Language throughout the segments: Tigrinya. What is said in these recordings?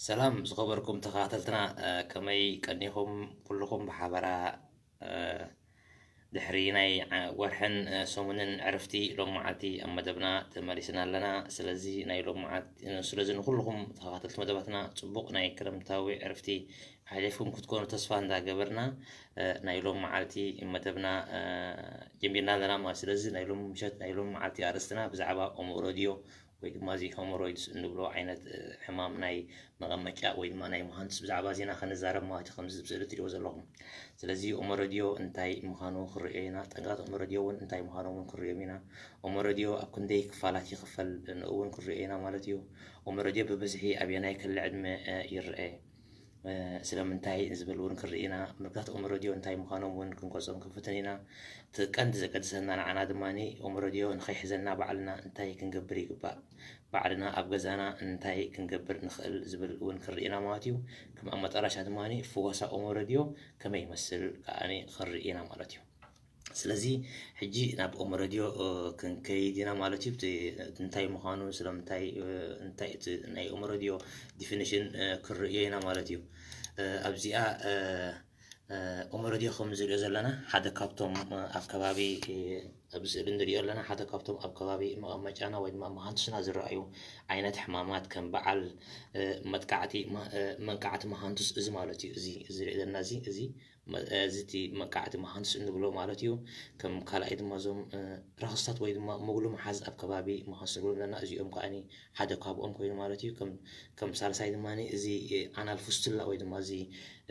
ሰላም ዝኸበርኩም ተኸታተልትና፣ እ፣ ከመይ ቀኒኹም? ኩልኹም ብሓበራ፣ እ፣ ድሕሪ ናይ ዓ-፣ ወርሕን፣ እ፣ ሰሙንን ዕርፍቲ ሎም መዓልቲ ኣብ መደብና ተመሊስና ኣለና። ስለዚ ናይ ሎም መዓልቲ፣ እ፣ ስለዚ ንኹልኹም ተኸታተልቲ መደባትና ጽቡቕ ናይ ክረምታዊ ዕርፍቲ ሓሊፍኩም ክትኮኑ ተስፋ እንዳገበርና፣ እ፣ ናይ ሎም መዓልቲ መደብና፣ እ፣ ጀሚርና ኣለና ማለት። ስለዚ ናይ ሎም ምሸት፣ ናይ ሎም መዓልቲ ኣርእስትና ብዛዕባ ኦሞ ሬድዮ ወይ ድማ እዚ ሆሞሮይድስ እንብሎ ዓይነት፣ እ፣ ሕማም ናይ መቐመጫ ወይ ድማ ናይ መሃንድስ ብዛዕባ ዜና ክንዛረብ ማለት እዩ፣ ከምዚ ኣብ ስእሊ ትሪእዎ ዘለኹም። ስለዚ ኦሞ ሬድዮ እንታይ ምዃኑ ክንሪኦ ኢና፣ ጠንቅታት ኦሞ ሬድዮ እውን እንታይ ምዃኖም እውን ክንሪኦም ኢና። ኦሞ ሬድዮ ኣብ ክንደይ ክፋላት ይኽፈል፣ ንኡ እውን ክንሪኦ ኢና ማለት እዩ። ኦሞ ሬድዮ ብብዝሒ ኣበየናይ ክሊ ዕድመ፣ እ፣ ይረአ፣ እ፣ ስለምንታይ ዝብል እውን ክንርኢ ኢና። ምልክታት ኦሞ ሬድዮ እንታይ ምዃኖም እውን ክንገልጾም ክንፍትን ኢና። እቲ ቀንዲ ዘገድሰና ንዓና ድማ ኦሞ ሬድዮ ንኸይሕዘና ባዕልና እንታይ ክንገብር ይግባእ፣ ባዕልና ኣብ ገዛና እንታይ ክንገብር ንኽእል ዝብል እውን ክንርኢ ኢና ማለት እዩ። ከም ኣብ መጠረሻ ድማ ፍወሳ ኦሞ ሬድዮ ከመይ ይመስል ከኣ ክንርኢ ኢና ማለት እዩ። ስለዚ ሕጂ ናብ ኦሞ ሬድዮ፣ እ፣ ክንከይድ ኢና ማለት እዩ። እቲ እንታይ ምዃኑ፣ ስለምንታይ፣ እ፣ እንታይ እቲ ናይ ኦሞ ሬድዮ ዲፊኒሽን፣ እ፣ ክንርእዮ ኢና ማለት እዩ። እ፣ ኣብዚኣ፣ እ፣ እ፣ ኦሞ ሬድዮ ከም ዝሪኦ ዘለና ሓደ ካብቶም፣ እ፣ ኣብ ከባቢ፣ እ፣ ኣብ ስእሊ ንሪኦ ኣለና ሓደ ካብቶም ኣብ ከባቢ መቐመጫና ወይ ድማ መሃንቱስና ዝረኣዩ ዓይነት ሕማማት ከም በዓል፣ እ፣ መጥቃዕቲ፣ መ-፣ እ፣ መንቃዕቲ መሃንቱስ እዚ ማለት እዩ። እዚ፣ እዚ ዝሪኦ ዘለና እዚ፣ እዚ መ-፣ እዚ እቲ መንቃዕቲ መሃንድስ እንብሎ ማለት እዩ። ከም ካልኣይ ድማ እዞም፣ እ፣ ረኽስታት ወይ ድማ መጉሉ መሓዝ ኣብ ከባቢ መሃንድስ ንብሎም ዘለና፣ እዚኦም ከኣኒ ሓደ ካብኦም ኮይኑ ማለት እዩ። ከም፣ ከም ሳልሳይ ድማ እዚ፣ እ፣ ኣናል ፉስትላ ወይ ድማ እዚ፣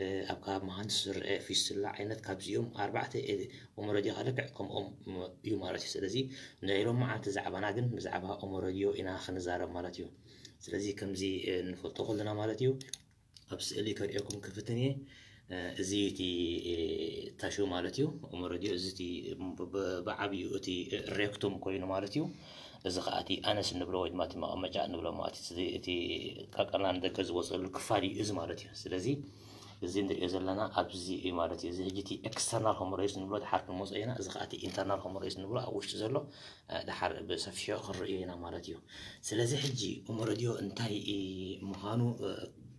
እ፣ ኣብ ከባቢ መሃንድስ ዝረአ ፊስትላ ዓይነት ካብዚኦም ኣርባዕተ፣ እ፣ ኦሞ ሬድዮ ከኣ ልክዕ ከምኦም እዩ ማለት እዩ። ስለዚ ናይ ሎም መዓልቲ ዛዕባና ግን ብዛዕባ ኦሞ ሬድዮ ኢና ክንዛረብ ማለት እዩ። ስለዚ ከምዚ፣ እ፣ ንፈልጦ ከለና ማለት እዩ። ኣብ ስእሊ ከርእየኩም ክፍትን እየ። እ፣ እዚ እቲ፣ እ፣ ታሹ ማለት እዩ። ኦሞ ሬድዮ እዚ እቲ ብ-፣ ብ-፣ ብዓብዩ እቲ ሬክቱም ኮይኑ ማለት እዩ። እዚ ከኣ እቲ ኣነስ እንብሎ ወይ ድማ እቲ መቐመጫ እንብሎ ማለት እዩ። እዚ እቲ ቀርቀርና ንደገ ዝወፀሉ ክፋል እዩ እዚ ማለት እዩ። ስለዚ እዚ ንሪኦ ዘለና ኣብዚ እዩ ማለት እዩ። እዚ ሕጂ እቲ ኤክስተርናል ሆሞሮይድስ ንብሎ ድሓር ክንመፅኦ ኢና። እዚ ከኣ እቲ ኢንተርናል ሆሞሮይድስ ንብሎ ኣብ ውሽጢ ዘሎ፣ እ፣ ድሓር ብሰፊሑ ክንርእዮ ኢና ማለት እዩ። ስለዚ ሕጂ ኦሞ ሬድዮ እንታይ ምዃኑ፣ እ፣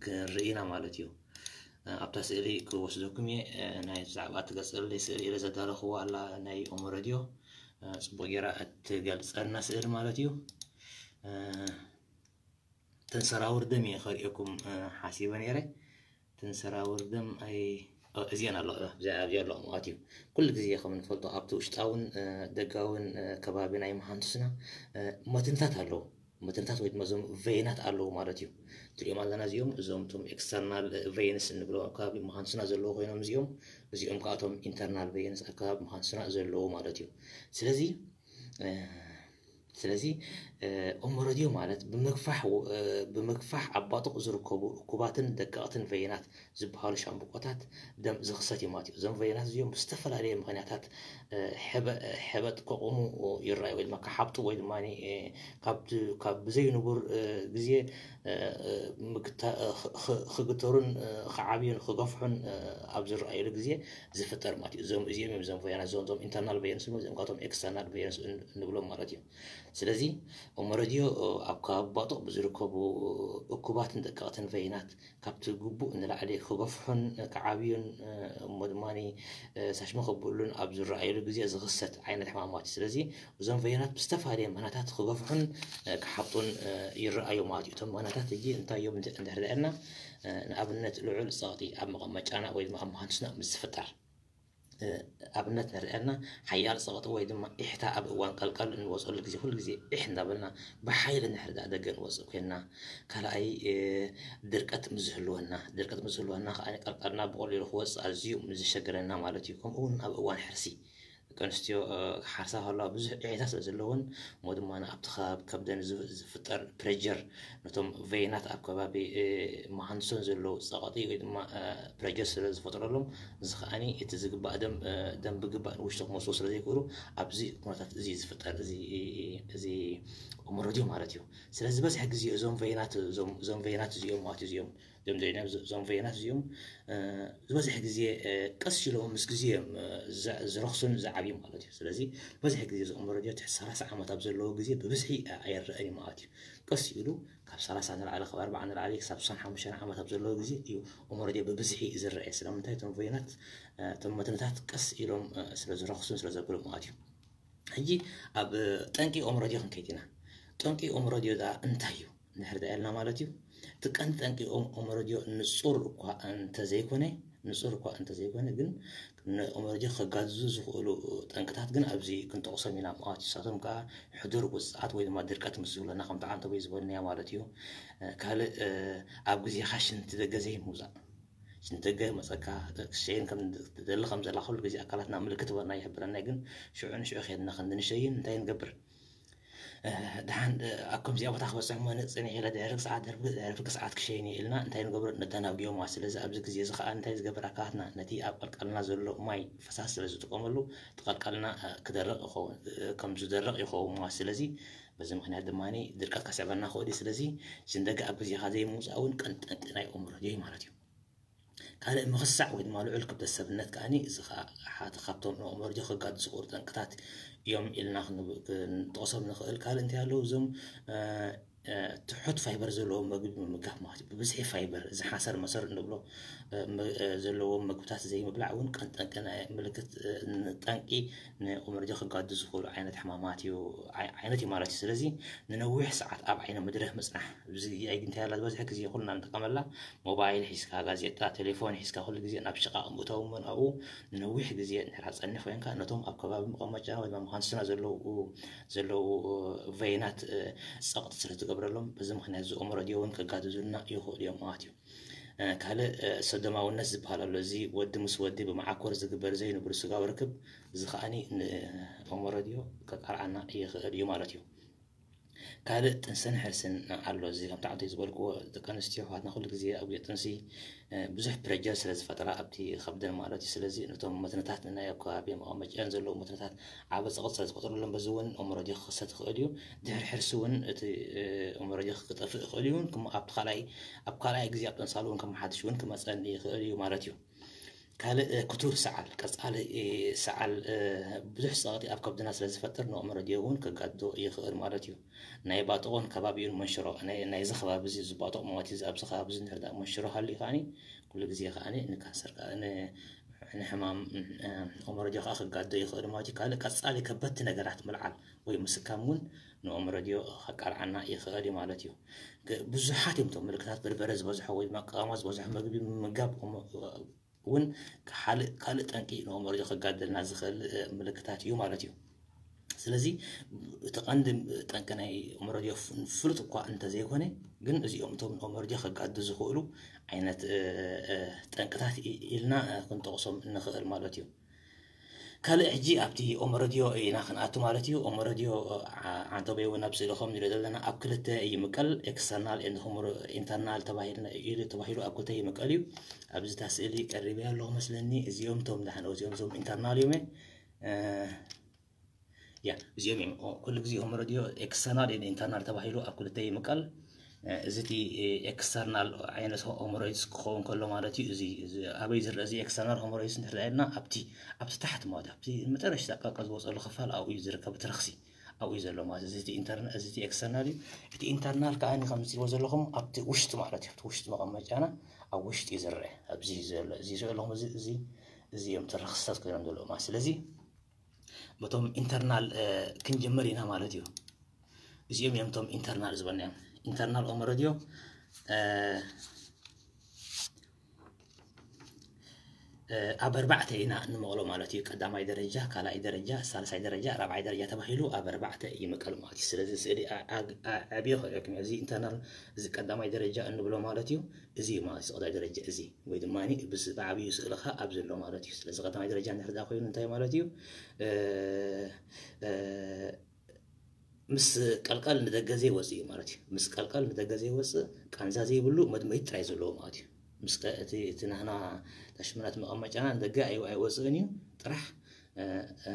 ክንርኢ ኢና ማለት እዩ። እ፣ ኣብታ ስእሊ ክወስደኩም እየ። እ፣ ናይ ብዛዕባ እትገልጸለይ ስእሊ ኢለ ዘዳለኽዎ ኣላ ናይ ኦሞ ሬድዮ። እ፣ ጽቡቕ ጌራ እትገልጸልና ስእሊ ማለት እዩ። እ፣ እተን ሰራውር ደም እየ ከርእየኩም፣ እ፣ ሓሲበ ነይረ። እተን ሰራውር ደም ኣይ-፣ እ፣ እዚአን ኣለዋ፣ እዚኣ፣ እዚኣ ኣለዋ ማለት እዩ። ኩሉ ግዜ ከም እንፈልጦ ኣብቲ ውሽጣውን፣ እ፣ ደጋውን፣ እ፣ ከባቢ ናይ መሃንቱስና፣ እ፣ መትንታት ኣለዉ። መትንታት ወይ ድማ እዞም ቬይናት ኣለዉ ማለት እዩ። ትሪኦም ኣለና እዚኦም፣ እዞም እቶም ኤክስተርናል ቬይንስ እንብሎም ኣብ ከባቢ መሃንቱስና ዘለዉ ኮይኖም እዚኦም፣ እዚኦም ከዓ እቶም ኢንተርናል ቬይንስ ኣብ ከባቢ መሃንቱስና ዘለዉ ማለት እዩ። ስለዚ፣ እ፣ ስለዚ፣ እ፣ ኦሞ ሬድዮ ማለት ብምግፋሕ፣ እ፣ ብምግፋሕ ኣብ ባጡቕ ዝርከቡ እኩባትን ደቀቕትን ቬይናት ዝበሃሉ ሻምብቆታት ደም ዝኽሰት እዩ ማለት እዩ። እዞም ቬይናት እዚኦም ብዝተፈላለየ ምኽንያታት፣ እ፣ ሕበ-፣ ሕበጥ ከቑሙ ይረኣዩ ወይ ድማ ክሓብጡ ወይ ድማ፣ እ፣ ካብ ድ-፣ ካብ ብዘይንቡር፣ እ፣ ግዜ፣ እ፣ እ፣ ምግታ-፣ እ፣ ኽ-፣ ኽ-፣ ክግተሩን፣ እ፣ ክዓብዩን ክገፍሑን፣ እ፣ ኣብ ዝረኣዩሉ ግዜ ዝፍጠር ማለት እዩ። እዞም፣ እዚኦም እዮም እዞም ቬይናት፣ እዞም፣ እዞም ኢንተርናል ቬይንስ፣ እዚኦም ካብቶም ኤክስተርናል ቬይንስ ን-፣ ንብሎም ማለት እዩ። ስለዚ ኦሞ ሬድዮ ኣብ ከባቢ ባጡቕ ብዝርከቡ እኩባትን ደቀቕትን ቬይናት ካብቲ ግቡእ ንላዕሊ ክገፍሑን ክዓብዩን፣ እሞ ድማ ሳሽመ ከብሉን ኣብ ዝረኣየሉ ግዜ ዝኽሰት ዓይነት ሕማማት እዩ። ስለዚ እዞም ቬይናት ብዝተፈላለየ ምኽንያታት ክገፍሑን ክሓብጡን ይረኣዩ ማለት እዩ። እቶም ምኽንያታት ሕጂ እንታይ እዮም እንተ-፣ እንድሕር ዳእና፣ ንኣብነት ልዑል ጸቕጢ ኣብ መቐመጫና ወይ ድማ ኣብ መሃንድስና ምስ ዝፍጠር፣ እ፣ ኣብነት ንርአና፣ ሓያል ጸቕጢ ወይ ድማ ኢሕታ ኣብ እዋን ቀልቀል እንወጸሉ ግዜ፣ ኩሉ ግዜ ኢሕ እንዳበልና ብሓይሊ እንድሕር ደኣ ደገ ንወጽእ ኮይንና፣ ካልኣይ፣ እ፣ ድርቀት ምስ ዝህልወና፣ ድርቀት ምስ ዝህልወና ከኣ ቀልቀልና ብቐሊሉ ክወጽእ ኣዝዩ ምስ ዘሸግረና ማለት እዩ። ከምኡ እውን ኣብ እዋን ሕርሲ፣ ደቂ ኣንስትዮ፣ እ፣ ክሓርሳ ከለዋ ብዙሕ ኢሕታ ስለ ዘለወን፣ እሞ ድማ ኣብቲ ከባቢ ከብደን ዝ-፣ ዝፍጠር ፕሬጀር፣ ነቶም ቬይናት ኣብ ከባቢ፣ እ፣ መሃንድሶን ዘለዉ ጸቕጢ ወይ ድማ፣ እ፣ ፕሬጀር ስለ ዝፈጥረሎም፣ እዚ ከኣኒ እቲ ዝግባእ ደም፣ እ፣ ደም ብግባእ ንውሽጢ ክመጽኡ ስለ ዘይክእሉ፣ ኣብዚ ኩነታት እዚ ዝፍጠር፣ እዚ፣ እዚ ኦሞ ሬድዮ ማለት እዩ። ስለዚ ዝበዝሐ ግዜ እዞም ቬይናት፣ እዞም፣ እዞም ቬይናት እዚኦም ማለት እዚኦም፣ እዞም ቬይናት፣ እዞም ቬይናት እዚኦም፣ እ፣ ዝበዝሐ ግዜ፣ እ፣ ቀስ ኢሎም ምስ ግዜ እዮም፣ እ፣ ዝ-፣ ዝረኽሱን ዝዓብዩን። እዩ ማለት እዩ። ስለዚ ብዙሕ ግዜ እዚ ኦሞ ረድዮ ትሕቲ ሰላሳ ዓመት ኣብ ዘለዎ ግዜ ብብዝሒ ኣይረኣን እዩ ማለት እዩ። ቀስ ኢሉ ካብ ሰላሳ ንላዕሊ፣ ካብ ኣርባዓ ንላዕሊ ክሳብ ስሳን ሓሙሽተን ዓመት ኣብ ዘለዎ ግዜ እዩ ኦሞ ረድዮ ብብዝሒ ዝረአ። ስለምንታይ? እቶም ቨይናት፣ እቶም መትንታት ቀስ ኢሎም ስለ ዝረኽሱን ስለ ዘብሉ ማለት እዩ። ሕጂ ኣብ ጠንቂ ኦሞ ረድዮ ክንከይድ ኢና። ጠንቂ ኦሞ ረድዮ ደኣ እንታይ እዩ? ንሕርዳ ያልና ማለት እዩ። እቲ ቀንዲ ጠንቂ ኦሞ ረድዮ ንጹር እኳ እንተዘይኮነ ንጹር እኳ እንተዘይኮነ ግን ንኦሞ ረድዮ ከጋድዙ ዝኽእሉ ጠንቅታት ግን ኣብዚ ክንጠቕሶም ኢና ማለት እዩ። ንሳቶም ከዓ ሕዱር ውፅዓት ወይ ድማ ድርቀት ምስ ዝብለና ከምቲ ዓንተቦይ ዝበልናዮ ማለት እዩ። ካልእ ኣብ ግዜኻ ሽንቲ ደገ ዘይምውፃእ። ሽንቲ ደገ መፀካ ክትሸይን ከም ትደሊ ከም ዘላ ኩሉ ግዜ ኣካላትና ምልክት በና ይሕብረና ግን ሽዑ ንሽዑ ከድና ክንዲ ንሸይን እንታይ ንገብር? ደሓን ኣብ ከምዚኣ ቦታ ክበፅሕ እሞ ንፅንሕ ኢለ ድሕሪ ሰዓት ድሕሪ ሰዓት ክሸይን እየ ኢልና እንታይ ንገብሮ? ነዳናግዮ ማለት። ስለዚ ኣብዚ ግዜ እዚ ከዓ እንታይ ዝገብር? ኣካላትና ነቲ ኣብ ቀልቀልና ዘሎ ማይ ፈሳሲ ስለ ዝጥቀመሉ እቲ ቀልቀልና ክደርቕ ይኸውን፣ ከም ዝደርቕ ይኸውን ማለት። ስለዚ በዚ ምክንያት ድማ ድርቀት ከስዕበና ክእል እዩ። ስለዚ ሽንደገ ኣብ ግዜኻ ዘይምውፃእ እውን ቀንጠንቂ ናይ ኦሞ ረድዮ እዩ ማለት እዩ። ካልእ ምኽሳዕ ወይ ድማ ልዑል ክብደት ሰብነት ከዓኒ እዚ ከዓ ሓደ ካብቶም ንኦሞ ረድዮ ከጋድሱ ዝኽእሉ ጠንቅታት እዮም ኢልና ክንብ- ክንጠቕሶም ንኽእል። ካልእ እንታይ ኣለዉ? እዞም እ፣ እ፣ ትሑት ፋይበር ዘለዎም መግቢ ምምጋብ ማለት እዩ። ብብዝሒ ፋይበር፣ እዚ ሓሰር መሰር እንብሎ እ፣ ም- እ፣ ዘለዎም መግብታት ዘይምብላዕ እውን ቀንጠንቂ ናይ ምልክት እ፣ ጠንቂ ንኦሞ ረድዮ ከጋድሱ ዝኽእሉ ዓይነት ሕማማት እዩ፣ ዓይ- ዓይነት እዩ ማለት እዩ። ስለዚ ንነዊሕ ሰዓት ኣብ ዓይነ ምድሪ ምፅናሕ፣ እዚ እንታይ ኣላ ዝበዝሐ ግዜ ኩልና ንጥቀመላ ሞባይል ሒዝካ፣ ጋዜጣ፣ ቴሌፎን ሒዝካ ኩሉ ግዜ ናብ ሽቓቕ ምእታው እሞ ኣብኡ ንነዊሕ ግዜ እንድሕር ጸኒሕ ኮይንካ ነቶም ኣብ ከባቢ መቐመጫ ወይ ድማ መሃንድስና ዘለዉ ዘለዉ ቨይናት እ፣ ጸቕጢ ስለ ትገብረሎም በዚ ምኽንያት እዚ ኦሞ ረድዮ እውን ከጋድዙልና ይኽእሉ እዮም ማለት እዩ። እ፣ ካልእ እ፣ ሰዶማውነት ዝበሃል ኣሎ። እዚ ወዲ ምስ ወዲ ብመዓኮር ዝግበር ዘይንቡር ስጋዊ ርክብ እዚ ከዓኒ ንኦሞ ረድዮ ከቃልዓና ይኽእል እዩ ማለት እዩ። ካልእ ጥንስን ሕርስን ኣሎ። እዚ ከምቲ ዓንተይ ዝበልክዎ ደቂ ኣንስትዮ ኣሕዋትና ኩሉ ግዜ ኣብ ግዜ ጥንሲ እ፣ ብዙሕ ፕረጀር ስለ ዝፈጥራ ኣብቲ ከብደን ማለት እዩ። ስለዚ ነቶም መትንታት ንናይ ኣብ ከባቢ መቐመጫን ዘለዉ መትንታት ዓቢ ጸቕጢ ስለ ዝፈጥረሎም በዚ እውን ኦሞ ረድዮ ክኽሰት ይኽእል እዩ። ድሕሪ ሕርሲ እውን እቲ እ፣ ኦሞ ረድዮ ክጠፍእ ይኽእል እዩ። እውን ክም- ኣብቲ ካልኣይ ኣብ ካልኣይ ግዜ ኣብ ጥንሳሉ እውን ከመሓድሽ እውን ክመጸን ይኽእል እዩ ማለት እዩ። ካልእ እ፣ ክቱር ሰዓል ቀጻሊ እ፣ ሰዓል እ፣ ብዙሕ ጸቕጢ ኣብ ከብድና ስለ ዝፈጥር ንኦሞ ረድዮ እውን ከጋድዶ ይኽእል ማለት እዩ። ናይ ባጥቖን ከባቢኡን መንሽሮ ናይ- ናይዚ ከባቢ እዚ ዝባጥቕ ማለት እዩ። ኣብዚ ከባቢ እዚ እንድሕር ደኣ መንሽሮ ሃልዩ ከዓኒ ኩሉ ግዜ ከዓኒ ንካንሰር ከኣ ን- ንሕማም እ፣ ኦሞ ረድዮ ከኣ ከጋድዶ ይኽእል ማለት እዩ። ካልእ ቀጻሊ ከበድቲ ነገራት ምልዓል ወይ ምስካም እውን ንኦሞ ረድዮ ከቃልዓና ይኽእል እዩ ማለት እዩ። ግ- ብዙሓት እዮም እቶም ምልክታት። በርበረ ዝበዝሖ ወይ ድማ ቀመማ ዝበዝሖ መግቢ ምምጋብ ኦሞ- እውን ካልእ ካልእ ጠንቂ ንኦሞ ረድዮ ከጋድደልና ዝኽእል እ፣ ምልክታት እዩ ማለት እዩ። ስለዚ እቲ ቀንዲ ጠንቂ ናይ ኦሞ ረድዮ ፍ- ፍሉጥ እኳ እንተዘይኮነ ግን እዚኦም እቶም ንኦሞ ረድዮ ከጋድዱ ዝኽእሉ ዓይነት እ፣ እ፣ ጠንቅታት ኢ- ኢልና እ፣ ክንጠቕሶም ንኽእል ማለት እዩ። ካልእ ሕጂ ኣብቲ ኦሞ ረድዮ ኢና ክንኣቱ ማለት እዩ። ኦሞ ረድዮ ዓ- ዓንተቦይ እውን ኣብ ስእሊ ከም ንሪኦ ዘለና ኣብ ክልተ ይምቀል። ኤክስተርናል ኤንድ ሆሞ ኢንተርናል ተባሂልና ኢሉ ተባሂሉ ኣብ ክልተ ይምቀል እዩ። ኣብዚ እታ ስእሊ ቀሪበያ ኣለኹ መስለኒ። እዚኦም እቶም ዳሕን እዚኦም እዞም ኢንተርናል እዮም። እ፣ ያ እዚኦም እዮም። ኦ፣ ኩሉ ግዜ ኦሞ ረድዮ ኤክስተርናል ኤንድ ኢንተርናል ተባሂሉ ኣብ ክልተ ይምቀል። እ፣ እዚ እቲ ኤክስተርናል ዓይነት ሆሞሮይድስ ክኸውን ከሎ ማለት እዩ። እዚ እዚ ኣበይ ዝረአ? እዚ ኤክስተርናል ሆሞሮይድስ እንድሕር ኢልና ኣብቲ ኣብቲ ታሕቲ ማለት ኣብቲ መጨረሽታ ቀልቀል ዝወፀሉ ክፋል ኣብኡ እዩ ዝርከብ፣ እቲ ረኽሲ ኣብኡ እዩ ዘሎ ማለት እዩ። እዚ እቲ ኢንተርና- እዚ እቲ ኤክስተርናል እዩ። እቲ ኢንተርናል ከዓ ከም ዝሪእዎ ዘለኹም ኣብቲ ውሽጢ ማለት እዩ፣ ኣብቲ ውሽጢ መቐመጫና ኣብ ውሽጢ እዩ ዝረአ። ኣብዚ እዩ ዘሎ፣ እዚ ዘለኹም እዚ እዚ እዚ እዮም እቲ ረኽስታት ኮይኖም ዘለዉ ማለት። ስለዚ በቶም ኢንተርናል እ፣ ክንጅምር ኢና ማለት እዩ። እዚኦም እዮም እቶም ኢንተርናል ዝበልናዮም። ኢንተርናል ኦሞ ረድዮ እ፣ እ፣ ኣብ ኣርባዕተ ኢና እንመቕሎ ማለት እዩ። ቀዳማይ ደረጃ፣ ካልኣይ ደረጃ፣ ሳልሳይ ደረጃ፣ ራብዓይ ደረጃ ተባሂሉ ኣብ ኣርባዕተ ይምቀል ማለት እዩ። ስለዚ ስእሊ ኣ- ኣ- ኣ- ዓብዮ ክርእየኩም እዩ። እዚ ኢንተርናል እዚ ቀዳማይ ደረጃ እንብሎ ማለት እዩ። እዚ እዩ ማለት እዚ ቀዳማይ ደረጃ እዚ ወይ ድማ ብስ- ብዓብዩ ስእልኻ ኣብ ዘሎ ማለት እዩ። ስለዚ ቀዳማይ ደረጃ እንድሕር ደኣ ኮይኑ እንታይ ማለት እዩ? እ፣ እ፣ ምስ ቀልቀል ንደገ ዘይወፅእ እዩ ማለት እዩ። ምስ ቀልቀል ንደገ ዘይወፅእ ቃንዛ ዘይብሉ መድመይቲ ጥራይ ዘለዎ ማለት እዩ። ምስ ቀ- እቲ እቲ ናህና ታሽመናት መቐመጫና ንደገ ኣይ- ኣይወፅእን እዩ። ጥራሕ እ፣ እ፣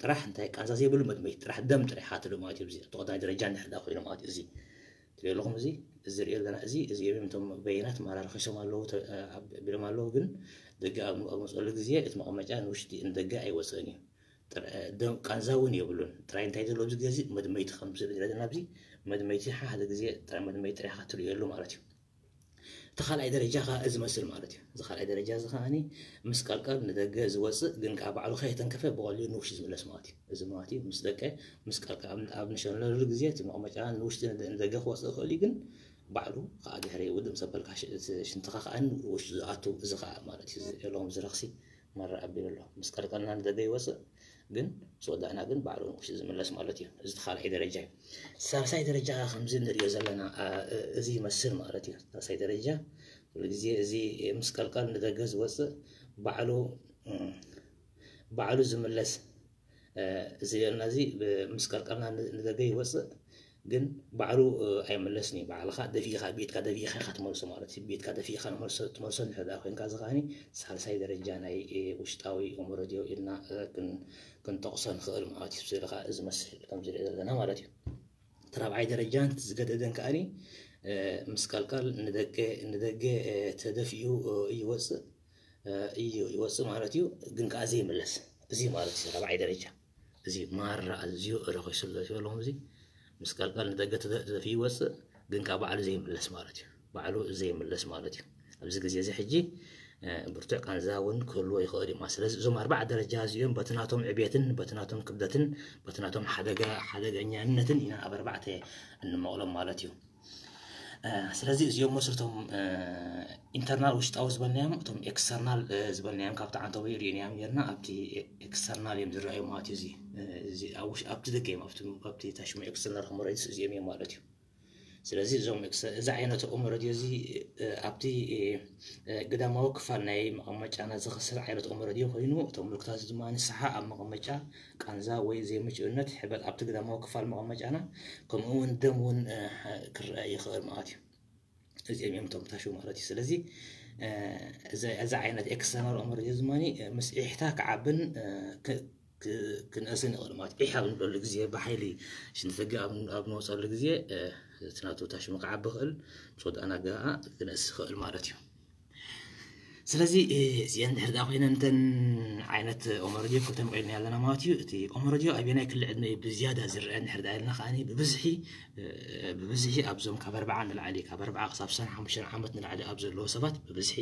ጥራሕ እንታይ ቃንዛ ዘይብሉ መድመይቲ ጥራሕ ደም ጥራሕ ሃትሉ ማለት እዩ። እዚ ተቆዳይ ደረጃ እንድሕር ደኣ ኮይኑ ማለት እዩ። እዚ ትሪኦ ኣለኹም እዚ እዚ ሪኦ ኣለና እዚ እዚ እዮም እቶም በየናት ማራርኺሶም ኣለዉ ተ- እ፣ ኣብ- ቢሎም ኣለዉ ግን ደገ ኣብ ኣብ መፅሉ ግዜ እቲ መቐመጫ ንውሽጢ ንደገ ኣይወፅእን እዩ። ቃንዛ እውን የብሉን። ጥራይ እንታይ ዘሎ ኣብዚ ግዜ መድመይቲ ከም ዝረደና ኣብዚ መድመይቲ ሓደ ግዜ ጥራይ መድመይቲ ጥራይ ክትርእየሉ ማለት እዩ። እቲ ካልኣይ ደረጃ ከዓ እዚ መስል ማለት እዩ። እዚ ካልኣይ ደረጃ እዚ ከዓኒ ምስ ቀልቀል ንደገ ዝወፅእ ግን ከዓ ባዕሉ ከየተንከፈ ብቐሊሉ ንውሽጢ ዝምለስ ማለት እዩ። እዚ ማለት እዩ ምስ ደቀ ምስ ቀልቀል ኣብ ንሸለሉ ግዜ እቲ መቐመጫ ንውሽጢ ንደገ ክወፅእ ይኽእል እዩ፣ ግን ባዕሉ ከዓ ድሕሪ ውድእ ምስ ኣበልካ ሽንትኻ ከዓ ውሽጢ ዝኣቱ እዚ ከዓ ማለት እዩ። ዘለዎም ዝረኽሲ መራ ኣቢሉ ኣሎ። ምስ ቀልቀልና ንደገ ይወፅእ ግን ምስ ወዳእና ግን ባዕሉ ንውሽጢ ዝምለስ ማለት እዩ። እዚ ካልኣይ ደረጃ እዩ። ሳልሳይ ደረጃ ከምዚ ንሪኦ ዘለና እዚ ይመስል ማለት እዩ። ሳልሳይ ደረጃ ኩሉ ግዜ እዚ ምስ ቀልቀል ንደገ ዝወፅእ ባዕሉ ባዕሉ ዝምለስ እዚ ልና እዚ ምስ ቀልቀልና ንደገ ይወፅእ ግን ባዕሉ ኣይመለስን እዩ። ባዕልኻ ደፊእኻ ቤትካ ደፊእኻ ኢኻ ትመልሶ ማለት እዩ። ቤትካ ደፊእኻ ትመልሶ እንድሕር ደኣ ኮይንካ እዚ ከዓኒ ሳልሳይ ደረጃ ናይ ውሽጣዊ ኦመረድዮ ኢልና ክንጠቕሶ ንኽእል ማለት እዩ። ስለ ከዓ እዚ መስል ከም ዝሪኦ ዘለና ማለት እዩ። እቲ ራብዓይ ደረጃ ዝገደደን ከዓኒ ምስ ቀልቀል ንደገ ንደገ ተደፊኡ ይወፅእ እዩ ይወፅእ ማለት እዩ። ግን ከዓ ዘይምለስ እዚ ማለት እዩ ራብዓይ ደረጃ እዚ ማራ ኣዝዩ ረኺሱ ኣሎ ኣለኹም። እዚ ምስ ቀልቀል ንደገ ተደፊ ይወፅእ ግን ካብ ባዕሉ ዘይምለስ ማለት እዩ። ባዕሉ ዘይምለስ ማለት እዩ። ኣብዚ ግዜ እዚ ሕጂ ብርቱዕ ቃንዛ እውን ክህልዎ ይኽእል እዩ። ስለዚ እዞም ኣርባዕ ደረጃ እዚኦም በቲ ናቶም ዕቤትን በቲ ናቶም ክብደትን በቲ ናቶም ሓደጋ ሓደገኛነትን ኢና ኣብ ኣርባዕተ እንመቕሎም ማለት እዩ። ስለዚ እዚኦም መስርቶም ኢንተርናል ውሽጣዊ ዝበልናዮም እቶም ኤክስተርናል ዝበልናዮም ካብቲ ዓንተቦ ሪእናዮም ጌርና ኣብቲ ኤክስተርናል እዮም ዝረኣዩ ማለት እዩ። ኣብቲ ደገ እዮም ኣብቲ ታሽሙ ኤክስተርናል ከመረይስ እዚኦም እዮም ማለት እዩ። ስለዚ እዞም እዚ ዓይነት ኦመረድዮ እዚ ኣብቲ ግዳማዊ ክፋል ናይ መቐመጫና ዝኸስር ዓይነት ኦመረድዮ ኮይኑ እቶም ምልክታት ድማ ንስሓ ኣብ መቐመጫ ቃንዛ ወይ ዘይምችእነት ሕበጥ ኣብቲ ግዳማዊ ክፋል መቐመጫና ከምኡ እውን ደም እውን ክረአ ይኽእል ማለት እዩ። እዚኦም እዮም እቶም ታሹ ማለት እዩ። ስለዚ እዚ ዓይነት ኤክስተርናል ኦመረድዮ ድማ ምስ ዒሕታ ክዓብን ክንእስን ይኽእል ማለት ዒሕ ኣብ ንብለሉ ግዜ ብሓይሊ ሽንቲ ደገ ኣብ ንወፀሉ ግዜ እቲ ናቱ ታሽሙ ክዓቢ ይኽእል ምስ ወዳእና ገኣ ክንእስ ይኽእል ማለት እዩ። ስለዚ እዚአን ድሕር ዳ ኮይነን እተን ዓይነት ኦመረድዮ ክልተ መቂልና ኣለና ማለት እዩ። እቲ ኦመረድዮ ኣበየናይ ክሊ ዕድመ እዩ ብዝያዳ ዝረአ እንድሕር ዳ ኢልና ከዓኒ ብብዝሒ ብብዝሒ ኣብዞም ካብ ኣርባዓ ንላዕሊ ካብ ኣርባዓ ክሳብ ሰን ሓሙሽተ ዓመት ንላዕሊ ኣብ ዘለዎ ሰባት ብብዝሒ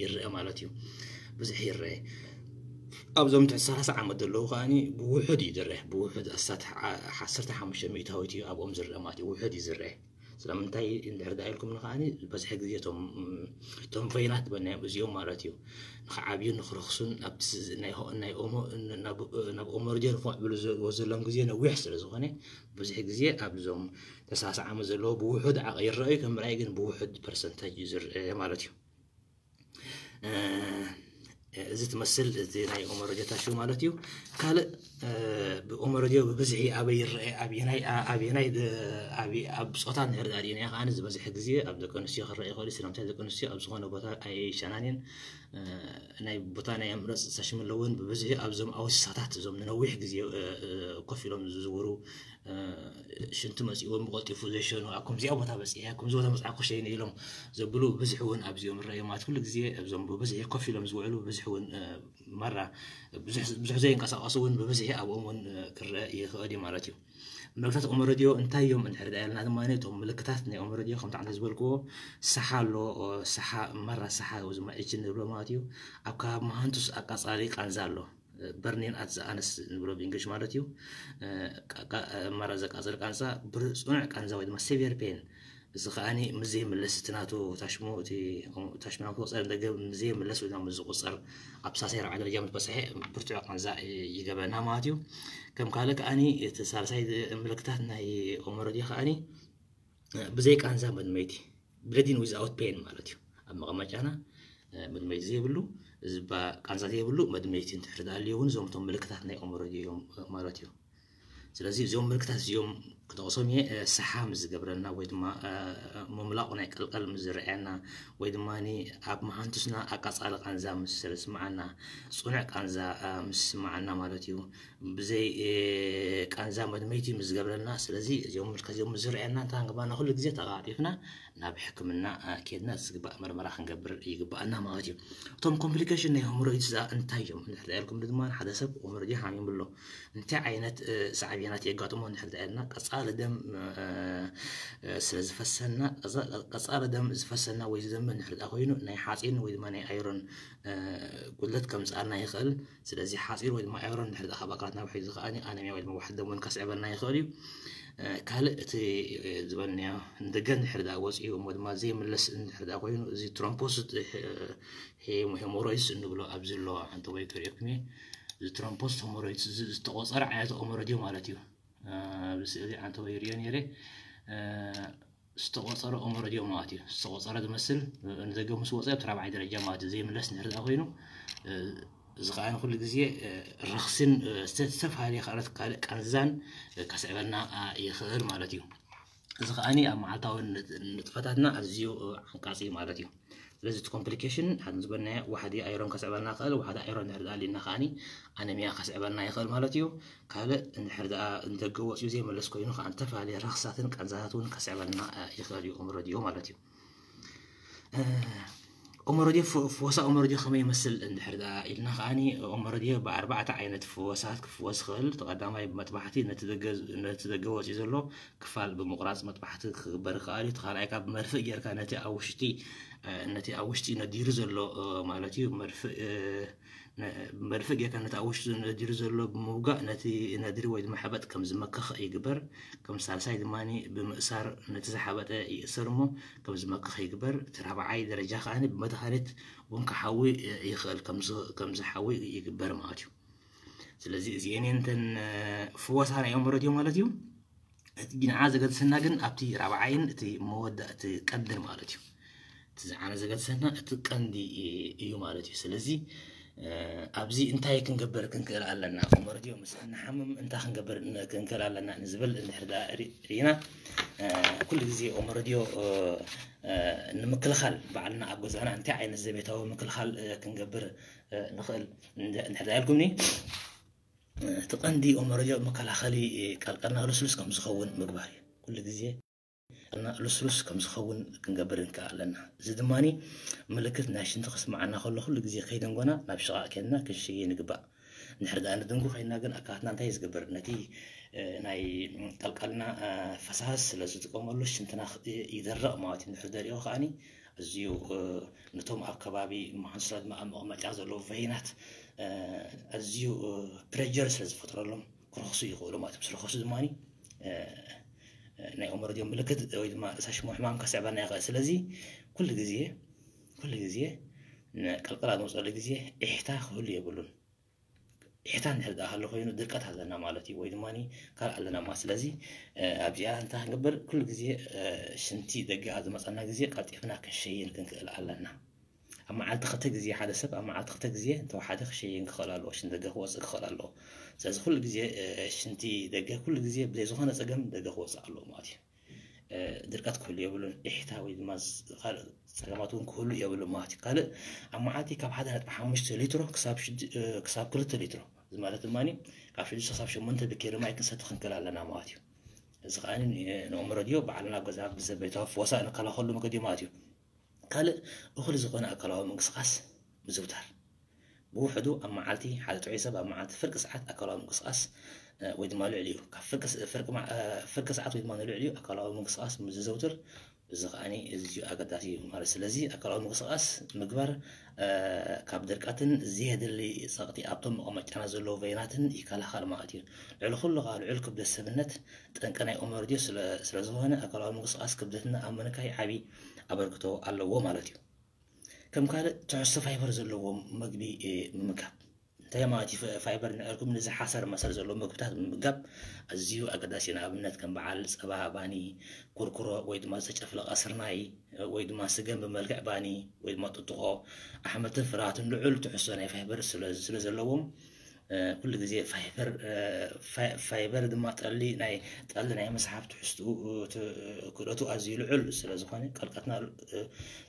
ይረአ ማለት እዩ። ብዝሒ ይረአ ኣብዞም ትሕቲ ሰላሳ ዓመት ዘለዉ ከዓኒ ብውሑድ እዩ ዝረአ። ብውሑድ ኣሳት ዓሰርተ ሓሙሽተ ሚእታዊት እዩ ኣብኦም ዝረአ ማለት እዩ። ውሑድ እዩ ዝረአ። ስለምንታይ እንድሕር ዳ ኢልኩም ንከዓኒ በዝሒ ግዜ እቶም እቶም ቨይናት በናዮም እዚኦም ማለት እዩ ንክዓብዩ ንክረኽሱን ኣብቲ ናይ ሆ- ናይ ኦሞ ናብ ኦመርጀን ክምዕብሉ ዘ- ዘለዎም ግዜ ነዊሕ ስለ ዝኾነ ብዙሕ ግዜ ኣብዞም ተሳስዓሚ ዘለዎ ብውሑድ ዓቐ ይረኣዩ ከም ምርኣይ ግን ብውሑድ ፐርሰንታጅ እዩ ዝረአ ማለት እዩ። እዚ ትመስል እዚ ናይ ኦመረጆ ታሹ ማለት እዩ። ካልእ ብኦመረጆ ብብዝሒ ኣበይ ይረአ ኣብየናይ ኣብየናይ ኣብ ፆታ ንሕርዳ ዲና ከዓኒ ዝበዝሐ ግዜ ኣብ ደቂ ኣንስትዮ ክረአ ይኽእል እዩ። ስለምንታይ ደቂ ኣንስትዮ ኣብ ዝኾነ ቦታ ኣይሸናንን ናይ ቦታ ናይ ምረፅ ሰሽም ኣለውን ብብዝሒ ኣብዞም ኣወስሳታት እዞም ንነዊሕ ግዜ ኮፍ ኢሎም ዝዝውሩ ሽንቲ መፂእዎም ብቐልጢፉ ዘይሸኑ ኣብ ከምዚኣ ቦታ በፂሐ ኣብ ከምዚ ቦታ መፅዓኩ ሸይነ ኢሎም ዘብሉ ብዝሒ እውን ኣብዚኦም ይረኣዩ ማለት ኩሉ ግዜ እዞም ብብዝሒ ኮፍ ኢሎም ዝውዕሉ ብዝሒ እውን መራ ብዙሕ ዘይንቀሳቀሱ እውን ብብዝሒ ኣብኦም እውን ክረአ ይኽእል እዩ ማለት እዩ። ምልክታት ኦመረድዮ እንታይ እዮም እንድሕር ዳ ኢልና ድማ እቶም ምልክታት ናይ ኦመረድዮ ከምቲ ዓንተ ዝበልክዎ ሰሓ ኣሎ። ሰሓ መራ ሰሓ ዝመዒችን ንብሎ ማለት እዩ። ኣብ ከባቢ መሃንቱስ ኣቃፃሊ ቃንዛ ኣሎ። በርኒን ኣት ዘኣነስ ንብሎ ብእንግሊሽ ማለት እዩ። መራ ዘቃፅል ቃንዛ ብፅኑዕ ቃንዛ ወይ ድማ ሴቪር ፔን እዚ ከዓኒ ምስ ዘይምለስ እቲ ናቱ ታሽሙ እቲ ታሽሙ ናብ ክወፀ ደገ ምስ ዘይምለስ ወይ ድማ ምስ ዝቁፀር ኣብ ሳሳይ ራብዓይ ደረጃ ምስ በፅሐ ብርቱዕ ቃንዛ ይገበና ማለት እዩ። ከም ካልእ ከዓኒ እቲ ሳልሳይ ምልክታት ናይ ኦመረድዮ ከዓኒ ብዘይ ቃንዛ መድመይቲ ብለዲን ዊዝኣውት ፔን ማለት እዩ። ኣብ መቐመጫና መድመይቲ ዘይብሉ ዝባ ቃንዛ ዘይብሉ መድመይቲ እንትሕር ዳልዩ እውን እዞም እቶም ምልክታት ናይ ኦመረድዮ እዮም ማለት እዩ። ስለዚ እዚኦም ምልክታት እዚኦም ክጠቕሶም እየ። ሰሓ ምስ ዝገብረና ወይ ድማ ምምላቑ ናይ ቀልቀል ምስ ዝረኣየና ወይ ድማ ኣብ መሃንቱስና ኣቃጻሊ ቃንዛ ምስ ዝስምዓና፣ ጽኑዕ ቃንዛ ምስ ዝስምዓና ማለት እዩ። ብዘይ ቃንዛ መድመይቲ ምስ ዝገብረና። ስለዚ እዚኦም ምልከዚኦም ምስ ዝረኣየና እንታይ ክንግባና? ኩሉ ግዜ ተቓጢፍና ናብ ሕክምና ኬድና ዝግባእ መርመራ ክንገብር ይግባኣና ማለት እዩ። እቶም ኮምፕሊኬሽን ናይ ሆሞሮይድስ እንታይ እዮም እንድሕር ኢልኩም ድማ፣ ሓደ ሰብ ሆሞሮይድ ሓሚሙ ኣሎ፣ እንታይ ዓይነት ሳዕቤናት የጋጥሞ እንድሕር ኢልና፣ ቀጻሊ ደም ስለ ዝፈሰና፣ ቀጻሊ ደም ዝፈሰና ወይ ዝደሚ እንድሕር ኮይኑ ናይ ሓፂን ወይ ድማ ናይ ኣይሮን ጉድለት ከምፅኣልና ይኽእል። ስለዚ ሓፂን ወይ ድማ ኣይሮን እንድሕር ካብ ኣካላትና ውሒዱ ዝኸኣኒ ኣነሚያ ወይ ድማ ዋሕዲ ደም እውን ከስዕበልና ይኽእል እዩ። ካልእ እቲ ዝበልናዮ ንደገ እንድሕር ወፂኡ እሞ ድማ ዘይምለስ እንድሕር ኮይኑ፣ እዚ ትሮምፖስ ሄሞሮይድስ እንብሎ ኣብዚ ኣለዋ ሓንቲ ወይ ክርእየኩም እየ። እዚ ትሮምፖስ ሆሞሮይድስ ዝተቆፀረ ዓይነት ኦመረድዮ ማለት እዩ። ኣብዚ ስእሊ ዓንተወይ ይርእዮ ነይረ። ዝተቆፀረ ኦመረድዮ ማለት እዩ። ዝተቆፀረ ዝመስል ንደገ ምስ ወፀ ኣብቲ ራብዓይ ደረጃ ማለት እዩ። ዘይምለስ እንድሕር ኮይኑ፣ እዚ ከዓ ንኩሉ ግዜ ረኽስን ዝተፈላለየ ካልኦት ካልእ ቃንዛን ከስዕበልና ይኽእል ማለት እዩ። እዚ ከዓኒ ኣብ መዓልታዊ ንጥፈታትና ኣዝዩ ዓንቃጺ ማለት እዩ። ስለዚ እቲ ኮምፕሊኬሽን ሓደ ዝበልናዮ ዋሕዲ ኣይሮን ከስዕበልና ይኽእል። ዋሕዲ ኣይሮን እንድሕር ደኣ ኣሊና ከዓኒ ኣነሚያ ከስዕበልና ይኽእል ማለት እዩ። ካልእ እንድሕር ደኣ ንደገ ወፂኡ ዘይመለስ ኮይኑ ከዓ ዝተፈላለየ ረኽሳትን ቃንዛታት እውን ከስዕበልና ይኽእል እዩ ኦመረድዮ ማለት እዩ። ኦመረድዮ፣ ፍወሳ ኦመረድዮ ከመይ ይመስል እንድሕር ደኣ ኢልና ከዓኒ፣ ኦመረድዮ ብኣርባዕተ ዓይነት ፍወሳት ክፍወስ ይኽእል። እቲ ቀዳማይ ብመጥባሕቲ ነቲ ደገ ወፂኡ ዘሎ ክፋል ብምቑራፅ መጥባሕቲ ክግበር ይኽእል እዩ። እቲ ካልኣይ ካብ መርፍእ ጌርካ ነቲ ኣብ ውሽጢ ነቲ ኣብ ውሽጢ ነዲሩ ዘሎ ማለት እዩ። መርፍእ መርፍእ ጌርካ ነቲ ኣብ ውሽጢ ነዲሩ ዘሎ ብምውጋእ ነቲ ነድሪ ወይ ድማ ሕበጥ ከም ዝመክኽ ይግበር። ከም ሳልሳይ ድማ ብምእሳር ነቲ ዝሓበጠ ይእሰር እሞ ከም ዝመክኽ ይግበር። እቲ ራብዓይ ደረጃ ከዓኒ ብመድሃኒት እውን ክሓዊ ይኽእል፣ ከም ዝሓዊ ይግበር ማለት እዩ። ስለዚ እዚኤን እንተን ፍወሳ ናይ ኦመረድዮ ማለት እዩ። እቲ ንዓ ዘገድሰና ግን ኣብቲ ራብዓይን እቲ መወዳእቲ ቀንድን ማለት እዩ። እቲ ዝዓነ ዘገድሰና እቲ ቀንዲ እዩ ማለት እዩ። ስለዚ ኣብዚ እንታይ ክንገብር ክንክእል ኣለና? ኦመረድዮ ምስ እንሓምም እንታይ ክንገብር ክንክእል ኣለና ንዝብል እንድሕር ሪና፣ ኩሉ ግዜ ኦመረድዮ ንምክልኻል ባዕልና ኣብ ገዛና እንታይ ዓይነት ዘቤታዊ ምክልኻል ክንገብር ንኽእል እንድሕር ኢልኩምኒ፣ እቲ ቀንዲ ኦመረድዮ መከላኸሊ ቀልቀልና ልስሉስ ከም ዝኸውን ምግባር እዩ። ኩሉ ግዜ ቀልቀልና ልስሉስ ከም ዝኸውን ክንገብር ንክእል ኣለና። እዚ ድማ ምልክት ናይ ሽንቲ ክስምዓና ከሎ ኩሉ ግዜ ከይደንጎና ናብ ሽቓቕ ኬድና ክንሸየ ንግባእ። እንድሕር ደኣ ንድንጉ ኮይንና ግን ኣካላትና እንታይ ዝገብር? ነቲ ናይ ቀልቀልና ፈሳሲ ስለ ዝጥቀመሉ ሽንትና ይደርቕ ማለት እዩ። እንድሕር ደሪቑ ከዓኒ ኣዝዩ ነቶም ኣብ ከባቢ መሃንስላ ድማ ኣብ መቐመጫ ዘለዉ ቨይናት ኣዝዩ ፕሬጀር ስለ ዝፈጥረሎም ክረኽሱ ይኽእሉ ማለት እዮም። ዝረኸሱ ድማ ናይ ኦመረድዮ ምልክት ወይ ድማ ርእሰ ሽሞ ሕማም ከስዕበና ይኽእል። ስለዚ ኩሉ ግዜ ኩሉ ግዜ ቀልቀል ኣብ ዝመፅኣሉ ግዜ ኢሕታ ክህሉ የብሉን። ኢሕታ እንድሕር ደኣ ሃሎ ኮይኑ ድርቀት ኣለና ማለት እዩ፣ ወይ ድማ ካልእ ኣለና ማለት። ስለዚ ኣብዚኣ እንታይ ክንገብር? ኩሉ ግዜ ሽንቲ ደገ ኣብ ዝመፀና ግዜ ቀልጢፍና ክንሸይን ክንክእል ኣለና። ኣብ መዓልቲ ክልተ ግዜ፣ ሓደ ሰብ ኣብ መዓልቲ ክልተ ግዜ እንተወሓደ ክሸይን ክኽእል ኣለዎ፣ ሽንቲ ደገ ክወፅእ ክኽእል ኣለዎ። ስለዚ ኩሉ ግዜ ሽንቲ ደገ ኩሉ ግዜ ብዘይ ዝኾነ ፀገም ደገ ክወፅእ ኣለዎ ማለት እዩ። ድርቀት ክህሉ የብሉን። ኢሕታ ወይ ድማ ካልእ ፀገማት እውን ክህሉ የብሉን ማለት እዩ። ካልእ ኣብ መዓልቲ ካብ ሓደ ነጥቢ ሓሙሽተ ሊትሮ ክሳብ ክልተ ሊትሮ፣ እዚ ማለት ድማ ካብ ሽዱሽተ ክሳብ ሸሞንተ ብኬሪ ማይ ክንሰቲ ክንክእል ኣለና ማለት እዩ። እዚ ከዓ ንኦመረድዮ ባዕልና ኣብ ገዛ ብዘቤታዊ ፈወሳ እንከላኸሉ መገዲ ማለት እዩ። ካልእ እኹል ዝኾነ ኣካላዊ ምንቅስቃስ ምዝውታር። ብውሕዱ ኣብ መዓልቲ ሓደ ጥዑይ ሰብ ኣብ መዓልቲ ፍርቂ ሰዓት ኣካላዊ ምንቅስቃስ ወይ ድማ ልዕሊኡ፣ ካብ ፍርቂ ሰዓት ወይ ድማ ንልዕሊኡ ኣካላዊ ምንቅስቃስ ምስ ዝዘውትር፣ እዚ ከዓኒ እዝዩ ኣገዳሲ እዩ ማለት። ስለዚ ኣካላዊ ምንቅስቃስ ምግባር ካብ ድርቀትን ዘየድሊ ጸቕጢ ኣብቶም መቐመጫና ዘለዉ ቨይናትን ይከላኸል ማለት እዩ። ልዕሊ ኩሉ ከዓ ልዑል ክብደት ሰብነት ጠንቂ ናይ ኦመርድዮ ስለ ዝኾነ ኣካላዊ ምንቅስቃስ ክብደትና ኣብ ምንካይ ዓቢ ኣበርክቶ ኣለዎ ማለት እዩ። ከም ካልእ ትሕዝቶ ፋይበር ዘለዎም መግቢ ምምጋብ። እንታይ ማለት እዩ ፋይበር ንዕርኩም? ንዝሓሰር መሰል ዘለዎ ምግብታት ምምጋብ ኣዝዩ ኣገዳሲ እዩ። ንኣብነት ከም በዓል ጸባ፣ ባኒ፣ ኩርኩሮ ወይ ድማ ዝተጨፍለቐ ስርናይ ወይ ድማ ስገም ብመልክዕ ባኒ ወይ ድማ ጥጥቖ፣ ኣሕምልትን ፍራትን ልዑል ትሕዝቶ ናይ ፋይበር ስለ ዘለዎም ኩሉ ግዜ ፋይበር ፋይበር ድማ ጠሊ ናይ ጠሊ ናይ መስሓብ ትሕዝትኡ ክእለቱ ኣዝዩ ልዑል ስለዝኾነ ቀልቀትና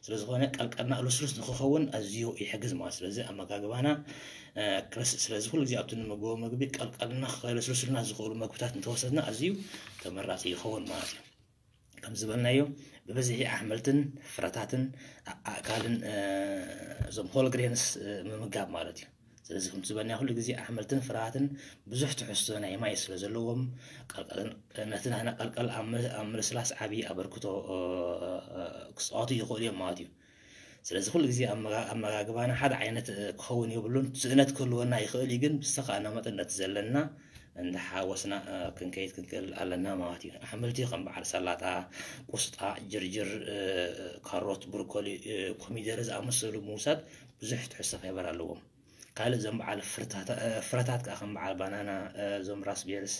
ስለዝኾነ ቀልቀልና ልስሉስ ንክኸውን ኣዝዩ ይሕግዝ ማለት። ስለዚ ኣመጋግባና ስለዚ ኩሉ ግዜ ኣብቲ ንመግቦ ምግቢ ቀልቀልና ከለስልሱልና ዝኽእሉ ምግብታት እንተወሰድና ኣዝዩ ተመራፂ ይኸውን ማለት እዩ። ከም ዝበልናዮ ብብዝሒ ኣሕምልትን ፍረታትን ኣእካልን እዞም ሆል ግሬንስ ምምጋብ ማለት እዩ። ስለዚ ከም ዝበልና ኩሉ ግዜ ኣሕምልትን ፍረታትን ብዙሕ ትሕዝቶ ናይ ማይ ስለ ዘለዎም ነቲ ናህና ቀልቀል ኣብ ምልስላስ ዓብዪ ኣበርክቶ ክፃወቱ ይኽእሉ እዮም ማለት እዩ። ስለዚ ኩሉ ግዜ ኣመጋግባና ሓደ ዓይነት ክኸውን የብሉን። ስእነት ክህልወና ይኽእል እዩ፣ ግን ብዝተኻእና መጠን ነቲ ዘለና እንዳሓወስና ክንከይድ ክንክእል ኣለና ማለት እዩ። ኣሕምልቲ ከም በዓል ሰላጣ፣ ቁስጣ፣ ጅርጅር፣ ካሮት፣ ብሮኮሊ፣ ኮሚደረ ዝኣመሰሉ ምውሳድ ብዙሕ ትሕዝቶ ፋይበር ኣለዎም። ካልእ እዞም በዓል ፍረታት ከዓ ከም በዓል ባናና፣ እዞም ራስቤርስ፣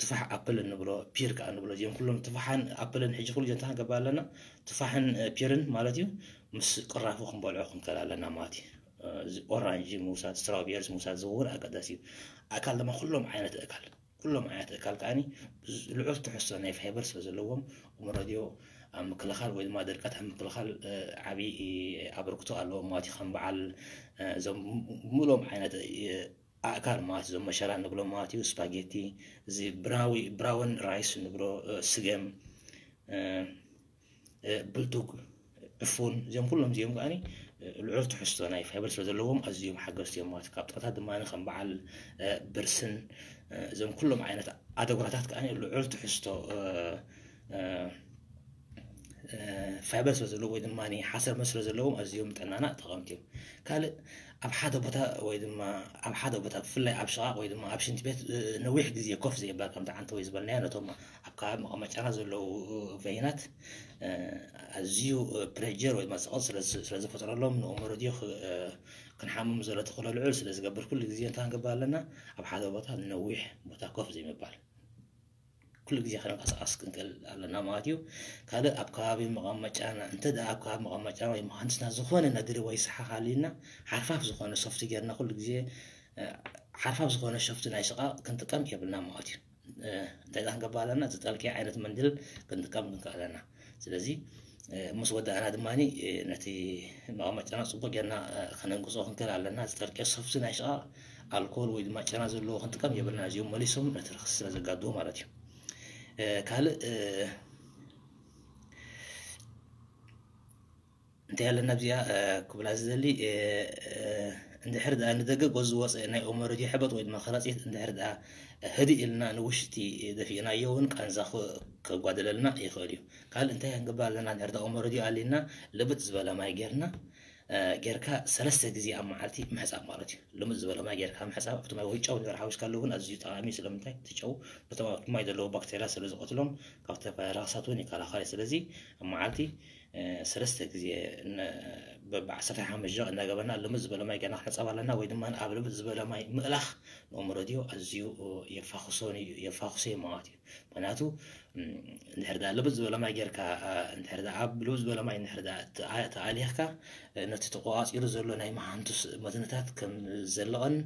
ትፋሕ ኣፕል እንብሎ፣ ፒር ከዓ እንብሎ፣ እዚኦም ኩሎም ትፋሕን ኣፕልን ሕጂ ኩሉ እንታይ ክንገብር ኣለና? ትፋሕን ፒርን ማለት እዩ ምስ ቅራፉ ክንበልዖ ክንክእል ኣለና ማለት እዩ። ኦራንጅ ምውሳድ፣ ስትራውቤርስ ምውሳድ ዝውን ኣገዳሲ እዩ። ኣእካል ድማ ኩሎም ዓይነት ኣእካል ኩሎም ዓይነት ኣእካል ከዓኒ ልዑል ትሕዝቶ ናይ ፋይበር ስለ ዘለዎም እሞ ረድዮ ኣብ ምክልኻል ወይ ድማ ድርቀት ኣብ ምክልኻል ዓብዪ ኣበርክቶ ኣለዎም ማለት እዩ። ከም በዓል እዞም ምሎም ዓይነት ኣእካል ማለት እዞም መሸላ ንብሎ ማለት እዩ። ስፓጌቲ፣ እዚ ብራዊ ብራውን ራይስ ንብሎ፣ ስገም፣ ብልቱግ፣ ዕፉን፣ እዚኦም ኩሎም እዚኦም ከዓኒ ልዑል ትሕዝቶ ናይ ፋይበር ስለ ዘለዎም ኣዝዮም ሓገዝቲ እዮም ማለት እዩ። ካብ ጥቕታት ድማ ከም በዓል ብርስን፣ እዞም ኩሎም ዓይነት ኣደጉራታት ከዓኒ ልዑል ትሕዝቶ ፋይበር ስለ ዘለዎ ወይ ድማ ሓሰር ስለ ዘለዎም ኣዝዮም ጥዕናና ጠቐምቲ እዮም። ካልእ ኣብ ሓደ ቦታ ወይ ድማ ኣብ ሓደ ቦታ ብፍላይ ኣብ ሽቓቕ ወይ ድማ ኣብ ሽንቲ ቤት ነዊሕ ግዜ ኮፍ ዘይባል ከምቲ ዓንተ ወይ ዝበልናዮ ነቶም ኣብ ከባቢ መቐመጫና ዘለዉ ቨይናት ኣዝዩ ፕሬጀር ወይ ድማ ፀቕጥ ስለዝፈጥረሎም ንእሞ ረድዮ ክንሓምም ዘሎ ተኽእሎ ልዑል ስለዝገብር ኩሉ ግዜ እንታይ ክንገብር ኣለና? ኣብ ሓደ ቦታ ነዊሕ ቦታ ኮፍ ዘይምባል ኩሉ ግዜ ክንንቀሳቐስ ክንክእል ኣለና ማለት እዩ። ካልእ ኣብ ከባቢ መቐመጫና እንተ ደኣ ኣብ ከባቢ መቐመጫና ወይ መሃንድስና ዝኾነ ነድሪ ወይ ሰሓኽ ኣልዩና ሓርፋፍ ዝኾነ ሶፍቲ ጌርና ኩሉ ግዜ ሓርፋፍ ዝኾነ ሶፍቲ ናይ ሽቓቕ ክንጥቀም የብልና ማለት እዩ። እንታይ ዳ ክንገብር ኣለና? ዝጠልቅየ ዓይነት መንድል ክንጥቀም ክንክእል ኣለና። ስለዚ ምስ ወዳእና ድማ ነቲ መቐመጫና ፅቡቅ ጌርና ከነንቅፆ ክንክእል ኣለና። ዝጠልቅየ ሶፍቲ ናይ ሽቓቕ ኣልኮል ወይ ድማ ጨና ዘለዎ ክንጥቀም የብልና። እዚኦም መሊሶም ነቲ ረኽሲ ስለ ዘጋድዎ ማለት እዩ። ካልእ እንታይ ኣለና ኣብዚኣ ክብላ ዝደሊ፣ እንድሕር ደኣ ንደገ ጎዝ ዝወፀ ናይ ኦሞ ረድዮ ሕበጥ ወይ ድማ ከረፂት እንድሕር ደኣ ህድእ ኢልና ንውሽጢ ደፊእናዮ እውን ቃንዛ ከጓደለልና ይኽእል እዩ። ካልእ እንታይ ክንገብር ኣለና? እንድሕር ደኣ ኦሞ ረድዮ ኣሊና ልብጥ ዝበለ ማይ ጌርና ጌርካ ሰለስተ ግዜ ኣብ መዓልቲ ምሕፃብ ማለት እዩ። ልምጥ ዝበለ ማይ ጌርካ ምሕፃብ ኣብቲ ማይ ወይ ጨው እንድሕር ሓዊስካ ኣለዎ እውን ኣዝዩ ጠቓሚ እዩ። ስለምንታይ? እቲ ጨው ነቶም ኣብቲ ማይ ዘለዉ ባክቴርያ ስለ ዝቐትሎም ካብ ዝተፈላለዩ ረኽሳት እውን ይከላኸል እዩ። ስለዚ ኣብ መዓልቲ ሰለስተ ግዜ በብዓሰርተ ሓሙሽተ ደቂቕ እናገበርና ልምጥ ዝበለ ማይ ጌርና ክንሕፀብ ኣለና ወይ ድማ ኣብ ልምጥ ዝበለ ማይ ምእላኽ ንኦሞ ረድዮ ኣዝዩ የፋኽሶ ማለት እዩ። ምክንያቱ እንድሕር ዳ ልብጥ ዝበለ ማይ ጌርካ እንድሕር ዳ ኣብ ልብጥ ዝበለ ማይ እንድሕር ዳ ተኣሊኽካ ነቲ ተቆፃፂሩ ዘሎ ናይ መሃንቱስ መትንታት ከም ዘለቐን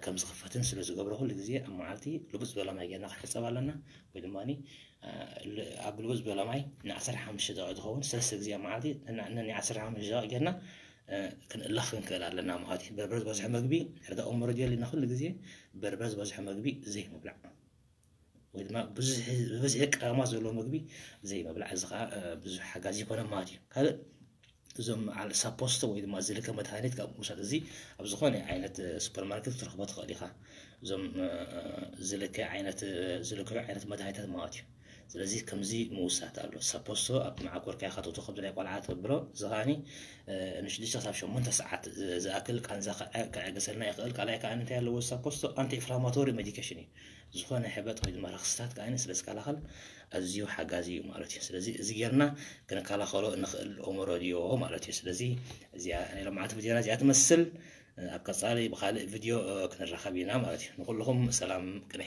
ከም ዝኽፈትን ስለ ዝገብሮ ኩሉ ግዜ ኣብ መዓልቲ ልብጥ ዝበለ ማይ ጌርና ክንሕፀብ ኣለና ወይ ድማ ኣብ ልብጥ ዝበለ ማይ ን ዓሰርተ ሓሙሽተ ደቂቕ ዝኸውን ሰለስተ ግዜ ኣብ መዓልቲ ን ዓሰርተ ሓሙሽተ ደቂቕ ጌርና ክንእለኽ ክንክእል ኣለና ማለት እዩ። በርበረ ዝበዝሖ መግቢ እንድሕር ዳ ኦሞ ረድዮ ኣሊና ኩሉ ግዜ በርበረ ዝበዝሖ መግቢ ዘይምብላዕ ወይ ድማ ብብዝሒ ቀመማት ዘለዎ ምግቢ ዘይምብላዕ፣ እዚ ከዓ ብዙሕ ሓጋዚ ይኮነ ማለት እዩ። ካልእ እዞም በዓል ሳፖስቶ ወይ ድማ ዝልከ መድሃኒት ካብ ምውሳድ እዚ ኣብ ዝኾነ ዓይነት ሱፐርማርኬት ክትረኽቦ ትኽእል ኢኻ። እዞም ዝልከ ዓይነት ዝልከዩ ዓይነት መድሃኒታት ማለት እዩ። ስለዚ ከምዚ ምውሳድ ኣሎ። ሳፖስቶ ኣብ መዓኮርካ ኢኻ ተእትዎ፣ ከምዚ ናይ ቆልዓ ተብሎ፣ እዚ ከዓኒ ንሽዱሽተ ክሳብ ሸሞንተ ሰዓት ዝኣክል ቃንዛ ከዐ- ከዐግሰልና ይኽእል። ካልኣይ ከዓ እንታይ ኣለዎ? ሳፖስቶ ኣንቲ ኢንፍላማቶሪ ሜዲኬሽን እዩ። ዝኾነ ሕበጥ ወይ ድማ ረኽስታት ከዓ ስለ ዝከላኸል ኣዝዩ ሓጋዚ እዩ ማለት እዩ። ስለዚ እዚ ጌርና ክንከላኸሎ ንኽእል ኦሞ ረድዮ ማለት እዩ። ስለዚ እዚኣ ናይ ሎማዓንቲ ቪድዮና እዚኣ ትመስል። ኣብ ቀፃሊ ብካልእ ቪድዮ ክንራኸብ ኢና ማለት እዩ። ንኩልኹም ሰላም ቅነ።